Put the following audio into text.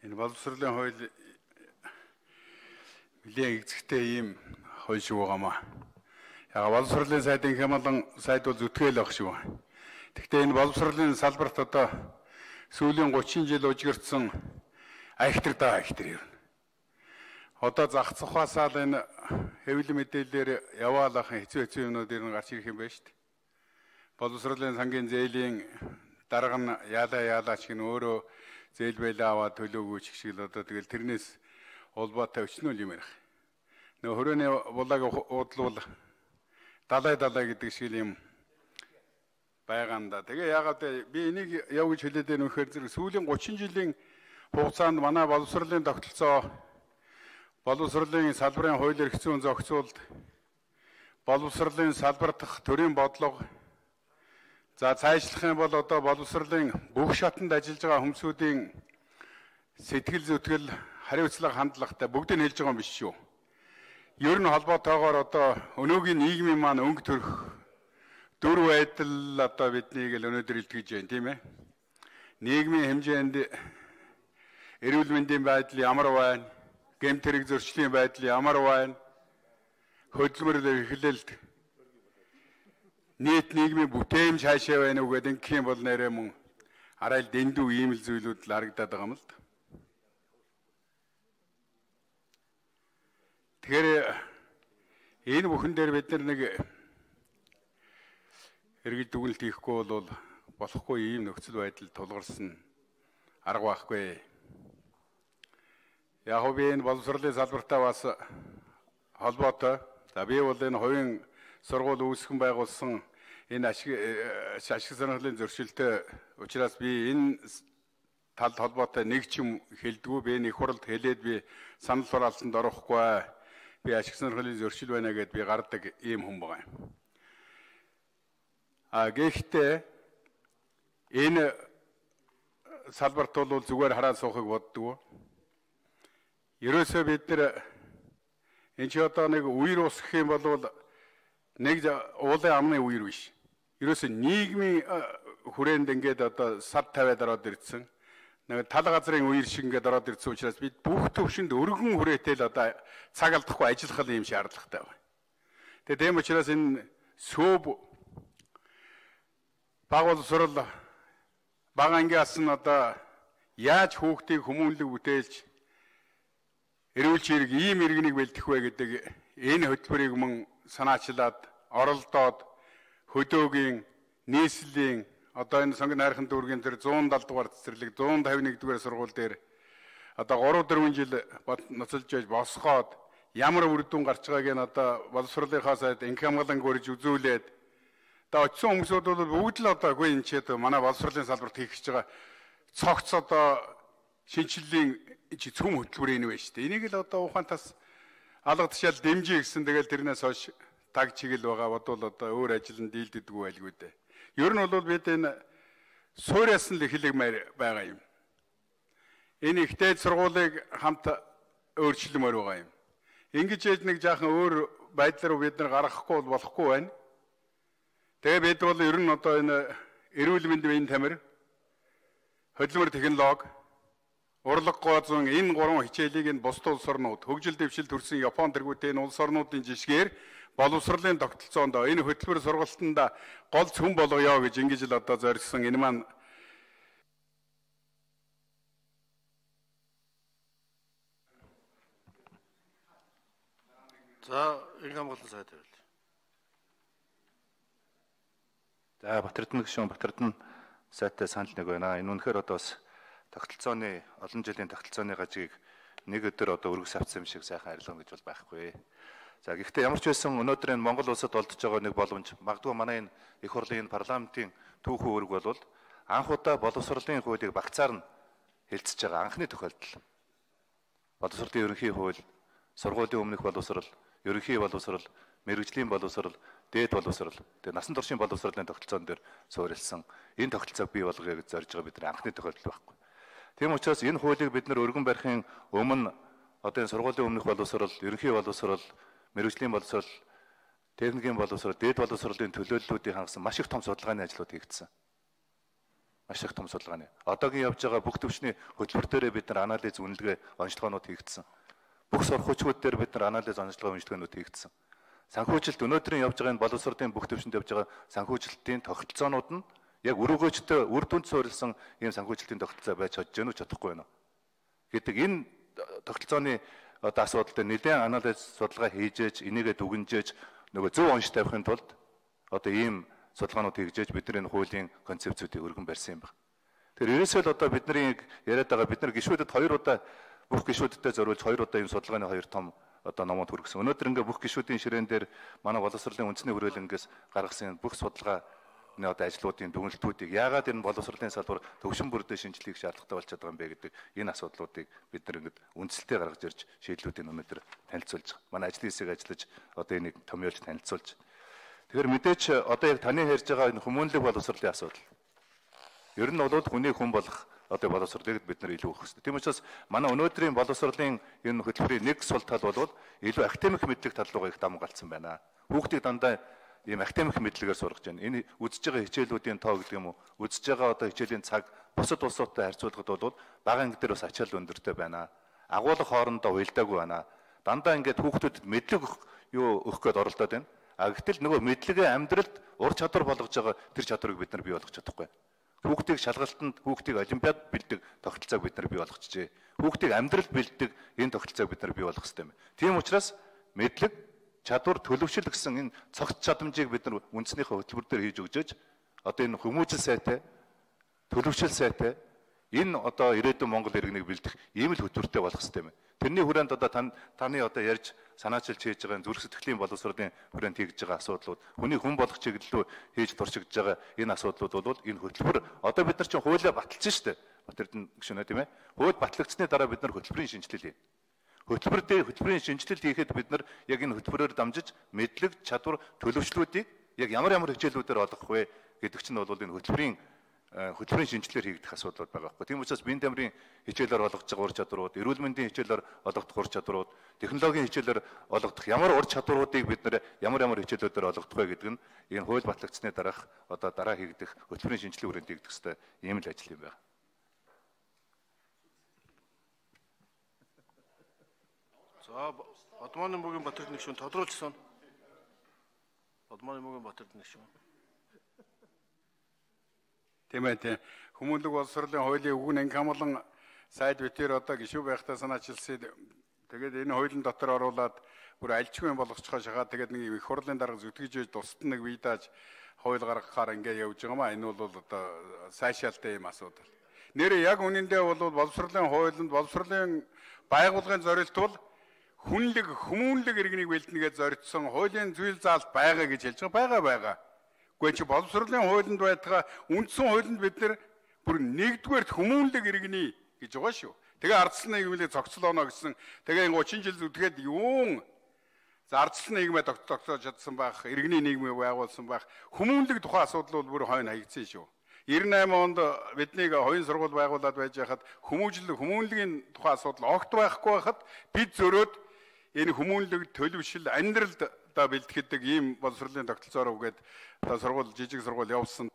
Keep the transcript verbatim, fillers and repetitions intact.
Энэ боловсролын хууль нэлээд эзэгтэй ийм хууль шиг байгаамаа. Яг боловсролын сайдын хямлан сайд бол зүтгэл авах шиг байна. Гэхдээ энэ боловсролын салбарт одоо сүүлийн гучин жил ужигэрсэн айхтар даа айхтар юм. Одоо зах цухаасаа л энэ хэвлэл мэдээлэлээр яваалахын хэцүү хэцүү юмнууд ирнэ гарч ирэх юм байна шүү дээ. Боловсролын сангийн зээлийн дарга нь яалаа яалаач гэн өөрөө зээл байлаа аваад төлөөгүй ч шиг л одоо тэгэл тэрнээс улбаатай өчнөл юм ярих. Нөө хөрөөний булааг уудлуул далай далай гэдэг шиг юм байгаанда. Тэгээ яагаад би энийг яв гэж хэлээд байна вэхээр зэрэг сүүлийн гучин жилийн хугацаанд манай боловсролын тогтолцоо боловсролын салбарын хууль эрх зүйн зохицуулалт боловсролын салбар дахь төрийн бодлого за цаашлах юм бол одоо боловсролын бүх шатанд ажиллаж байгаа хүмүүсийн сэтгэл зүтгэл хариуцлага хандлагатай бүгдийг хэлж байгаа юм биш шүү. Ер нь холбоотойгоор одоо өнөөгийн нийгмийн маань өнгө төрх дүр байдал одоо биднийг л өнөөдөр илтгэж байна тийм ээ. Нийгмийн хэмжээнд эрүүл мэндийн байдал ямар байна? Гэмт хэрэг зөрчлийн байдал ямар байна? Хөдөлмөр эхлэлт нийт нийгмийн бүтээмж хаашаа байна уу гэдэг ингэх юм бол нэрээ мөн арай л дэндүү ийм л зүйлүүд л харагдаад байгаа юм л да. Тэгэхээр энэ бүхэн дээр бид нар нэг эргэл дүгнэлт хийхгүй бол болохгүй ийм нөхцөл байдал тулгарсан арга байхгүй. Яг би энэ боловсролын салбартаа бас холбоотой. За би бол энэ хувийн сургууль үүсгэн байгуулсан энэ ашиг ашиг сонирхлын зөрчилтэй учраас би энэ талд холбоотой нэг ч юм хэлдэггүй. Би энэ их хурлд хэлээд би санал хураалтанд орохгүй. Би ашиг сонирхлын зөрчил байна гэдээ би гардаг ийм хүн байгаа юм. А гэхдээ энэ салбарт бол зүгээр хараад суухыг боддгоо. Ерөөсөө бид нар энэ ч одоо нэг үер усгах юм бол нэг уулын амны үер биш. Ерөөсөө нийгмийн хүрээнд ингээд одоо сад тавиад ороод ирсэн. Нэг тал газрын үер шиг ингээд ороод ирсэн учраас бид бүх төвшөнд өргөн хүрээтэй л одоо цаг алдахгүй ажиллах юм шаардлагатай байна. Тэгээ тийм учраас энэ сөөб багуулсрал бага ангиас нь одоо яаж хүүхдийг хүмүүнлэг бүтээлж эрүүлж хэрэг ийм иргэнийг бэлдэх вэ гэдэг энэ хөтөлбөрийг мөн санаачлаад оролдоод хөдөөгийн нийслэлийн одоо энэ сонгон найрхан дүүргийн тэр зуун далд дугаар цэцэрлэг зуун тавин нэг дугаар сургууль дээр одоо гурав дөрвөн жил ноцолж байж босгоод ямар үр дүн гарч байгааг нь одоо боловсролынхаа сайд инх хамгаалан гөрж үзүүлээд одоо очсон хүмүүсүүд бол бүгд л одоо үгүй энэ ч одоо манай боловсролын салбарт хийх гэж байгаа цогц одоо шинжиллийн чи цөм хөтөлбөр энэ байна шүү дээ. Энийг л одоо ухаантаас алга тушаал дэмжиж гисэн тэгэл тэрнээс хойш таг чиглэл байгаа бодвол одоо өөр ажилд дийлдэггүй байлгүй дээ. Ер нь бол бид энэ сууриас нь л эхлэгмээр байгаа юм. Энэ ихтэй сургуулийг хамт өөрчлөмөр байгаа юм. Ингэж ээж нэг жаахан өөр байдлаар бид нар гаргахгүй бол болохгүй байна. Тэгээ бид бол ер нь одоо энэ эрүүл мэндийн тамир хөдөлмөр технологи урлаг гоозон энэ гурван хичээлийг энэ бусад улс орнууд хөгжил дэвшил төрсэн Япон тэргүүтээ энэ улс орнуудын жишгээр боловсролын тогтолцоонд энэ хөтөлбөр сургалтанд гол цөм болгоё гэж ингэж л одоо зорьсон энэ маань за инх хамгаалалтын сайд байл. За Батэрдэн гишүүн Батэрдэн сайдтай санал нэг байна. Энэ үнэхээр одоо бас тогтолцооны олон жилийн тогтолцооны гажиг нэг өдөр одоо өргөс авсан юм шиг сайхан арилгана гэж бол байхгүй. За гэхдээ ямар ч байсан өнөөдөр энэ Монгол улсад олдож байгаа нэг боломж магадгүй манай энэ их хурлын парламентын түүхэн үүрэг бол анх удаа боловсролын хуулийг багцаар нь хэлцэж байгаа анхны тохиолдол. Боловсролын ерөнхий хууль, сургуулийн өмнөх боловсрол, ерөнхий боловсрол, мэрэгжлийн боловсрол, дээд боловсрол, тэгээ насан туршийн боловсролын тогтолцоон дээр суурилсан энэ тогтолцоог бий болгоё гэж зорж байгаа бидний анхны тохиолдол байхгүй. Тийм учраас энэ хуулийг бид нар өргөн барихын өмнө одоо энэ сургуулийн өмнөх боловсрол, ерөнхий боловсрол, мэрэгжлийн боловсрол, техникийн боловсрол, дээд боловсролын төлөөллүүдийг хангасан маш их том судалгааны ажлууд хийгдсэн. Маш их том судалгааны. Одоогийн явж байгаа бүх төвчний хөтөлбөр дээрээ бид нар анализ үнэлгээ онцлогоонууд хийгдсэн. Бүх сургуучууд дээр бид нар анализ онцлогоо уншлагууд хийгдсэн. Санхүүжилт өнөөдрийн явж байгаа энэ боловсролын бүх төвшөнд явж байгаа санхүүжилтийн тогтолцоонууд нь яг өргөөжтэй үр дүнд суурилсан ийм санхүүжилтийн тогтолцоо байж чадж гэнэ үү чадахгүй байна гэдэг энэ тогтолцооны одоо асуудал дээр нэлээд анализ судалгаа хийж, энийгээ дүгнжээж нөгөө зөв онш тавихын тулд одоо ийм судалгаанууд хийгжээж бидний хуулийн концепцүүдийг өргөн барьсан юм байна. Тэгэхээр ерөөсөө л одоо бидний яриад байгаа бид нар гишүүдэд хоёр удаа бүх гишүүдтэй зориулж хоёр удаа ийм судалгааны хоёр том одоо номод хүргэсэн. Өнөөдөр ингээ бүх гишүүдийн ширээн дээр манай боловсролын үндэсний хүрээлэнгээс гаргасан бүх судалгааны одоо ажлуудын дүгнэлтүүдийг яагаад энэ боловсролын салбар төвшин бүрдээ шинжилгээг шаардлагатай болж байгаа юм бэ гэдэг энэ асуудлуудыг бид нар ингээд үндсэлтэй гаргаж ирж шийдлүүдийг өнөөдөр танилцуулж байгаа. Манай ажлын хэсэг ажиллаж одоо энийг томьёолж танилцуулж. Тэгэхээр мэдээч одоо яг таны ярьж байгаа энэ хүмүүнлэг боловсролын асуудал. Ер нь бол хүний хүн болох одоо боловсролыг бид нар илүү өгөх хэрэгтэй. Тийм учраас манай өнөөдрийн боловсролын энэ хөтөлбөрийн нэг сул тал бол илүү академик мэдлэг тал руугаа их даван галцсан байна. Хүүхдийг дандаа ийм академик мэдлэгээр сургаж байна. Энэ үзэж байгаа хичээлүүдийн тоо гэдэг юм уу? Үзэж байгаа одоо хичээлийн цаг бусад улсуудтай харьцуулахад бол бага анги дээр бас ачаал өндөртэй байна. Агуулга хоорондоо уялдаагүй байна. Дандаа ингээд хүүхдүүдэд мэдлэг юу өгөх гээд оролдоод байна. А гэтэл нөгөө мэдлэгээ амьдралд ур чадвар болгож байгаа тэр чадварыг бид нар бий болгож чадахгүй. Хүүхдийг шалгалтанд, хүүхдийг олимпиад бэлдэг тогтолцоог бид нар бий болгочихжээ. Хүүхдийг амьдрал бэлдэг энэ тогтолцоог бид нар бий болгох хэрэгтэй юм. Тийм учраас мэдлэг, чадвар, төлөвшил гэсэн энэ цогц чадамжийг бид нар үндэснийхээ хөтөлбөр дээр хийж өгчөөж одоо энэ хүмүүжил сайтай, төлөвшил сайтай энэ одоо ирээдүйн Монгол иргэнийг бэлдэх ийм л хөтөлбөртэй болох хэрэгтэй юм. Тэрний хүрээнд одоо тань таны одоо ярьж санаачилж хийж байгаа зүрх сэтгэлийн боловсролын хүрээнд хийж байгаа асуудлууд, хүний хүн болох чиглэлөө хийж туршигдж байгаа энэ асуудлууд бол энэ хөтөлбөр одоо бид нар чинь хуулиа баталсан шүү дээ. Батэрдэн гүшнэ тийм ээ. Хууль батлагдсны дараа бид нар хөтөлбөрийн шинжилэл хийнэ. Хөтөлбөр дээр хөтөлбөрийн шинжилэл хийхэд бид нар яг энэ хөтөлбөрөөр дамжиж мэдлэг, чадвар, төлөвчлүүдийг яг ямар ямар хичээлүүдээр олгох вэ гэдэг чинь бол энэ хөтөлбөрийн хөтөлбөрийн шинжилгээр хийгдэх асуудлууд байгаа байхгүй. Тийм учраас биеийн тамирын хичээлээр олгож байгаа ур чадварууд, эрүүл мэндийн хичээлээр олгох ур чадварууд, технологийн хичээлээр олгох ямар ур чадваруудыг бид нэр ямар ямар хичээлүүдээр олгох вэ гэдэг нь энэ хууль батлагдсны дараах одоо дараа хийгдэх хөтөлбөрийн шинжилгээ хүрээнд хийгдэх ёстой ийм л ажил юм байна. За Одмооны мөгийн Батэрд нэг шүн тодруулсан. Одмооны мөгийн Батэрд нэг шүн. Тийм ээ тийм. Хүмүүнлэг боловсролын хуулийн үгэн анги хамлан сайд битээр одоо гишүү байхтаа санаачилсан. Тэгээд энэ хуулийн дотор оруулаад бүр альчгүй болгоцохоо шахаад тэгээд нэг их хурлын дарга зүтгэж тусад нэг вийдааж хууль гаргахаар ингээ явж байгаа маа. Энэ бол одоо сайшаалтай юм асуудал. Нэрээ яг үнэндээ бол боловсролын хуулинд боловсролын байгууллагын зорилт бол хүнлэг хүмүүнлэг иргэнийг бэлдэнэгээ зориулсан хуулийн зүйл заалт байгаа гэж хэлж байгаа байгаа. Гэхдээ чи боловсролын хуулинд байтугай үндсэн хуулинд бид нэр бүр нэгдүгээр хүмүүнлэг иргэний гэж байгаа шүү. Тэгээ ардсан нийгмийг зохицол оноо гэсэн. Тэгээ гучин жил зүтгээд юун зардсан нийгмээ тогтоож чадсан байх, иргэний нийгмийг байгуулсан байх. Хүмүүнлэг тухайн асуудал бол бүр хойно хаягдсан шүү. девяносто восемь онд биднийг хоёрын сургууль байгуулад байж хахад хүмүүжил хүмүүнлэгийн тухайн асуудал огт байхгүй байхад бид зөрөөд энэ хүмүүнлэг төлөвшил амьдралд одоо бэлтгэдэг ийм боловсролын тогтолцоороо үгээд одоо сургууль жижиг сургууль явуулсан.